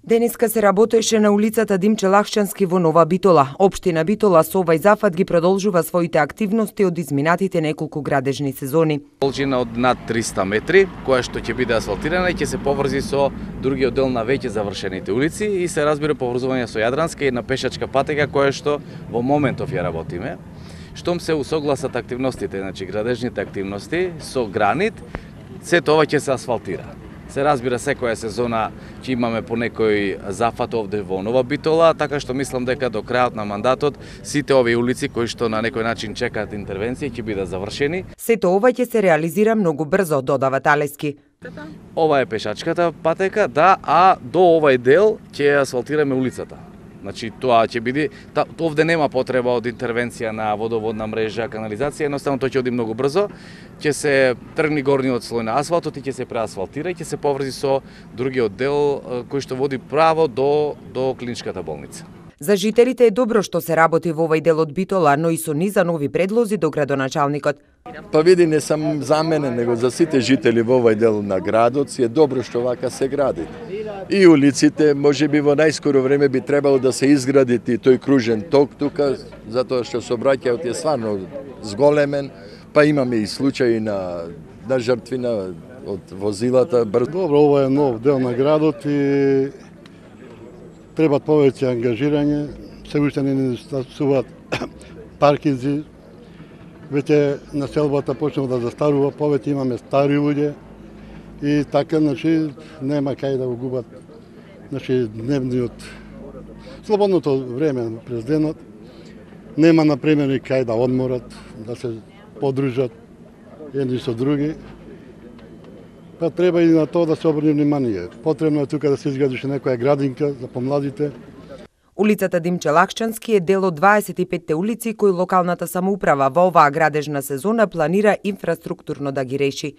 Денеска се работеше на улицата Димче Лахчански во Нова Битола. Општина Битола со овај зафат ги продолжува своите активности од изминатите неколку градежни сезони. Должина од над 300 метри, која што ќе биде асфалтирана и ќе се поврзи со другиот дел на веќе завршените улици и се разбира поврзување со Јадранска и на пешачка патека која што во моментов ја работиме. Штом се усогласат активностите, значи градежните активности со гранит, сето ова ќе се асфалтира. Се разбира, секоја сезона ќе имаме по некој зафат овде во Нова Битола, така што мислам дека до крајот на мандатот сите овие улици кои што на некој начин чекаат интервенција ќе бидат завршени. Сето ова ќе се реализира многу брзо, додава Талески. Ова е пешачката патека, да, а до овај дел ќе асфалтираме улицата. Значи тоа ќе биде, овде нема потреба од интервенција на водоводна мрежа, канализација, едноставно тоа ќе оди многу брзо. Ќе се тргни горниот слој на асфалтот и ќе се преасфалтира и ќе се поврзи со другиот дел кој што води право до клиничката болница. За жителите е добро што се работи во овај дел од Битола, но и со низа нови предлози до градоначалникот. Па види, не сам за мене, него за сите жители во овај дел на градот си е добро што вака се гради. И улиците, можеби во најскоро време би требало да се изгради и тој кружен ток тука, затоа што сообраќајот е стварно зголемен, па имаме и случаи на жртви од возилата. Добро, ова е нов дел на градот и требат повеќе ангажирање, се уште не недостасуваат паркинзи, веќе населбата почнува да застарува, повеќе имаме стари луѓе и така, значи, нема кај да го губат, значи, дневниот, слободното време през денот, нема, например, и кај да одморат, да се подружат едни со други. Па треба и на тоа да се обрне внимание. Потребно е тука да се изгради некоја градинка за помладите. Улицата Димче Лахчански е дел од 25 улици кои локалната самоуправа во оваа градежна сезона планира инфраструктурно да ги реши.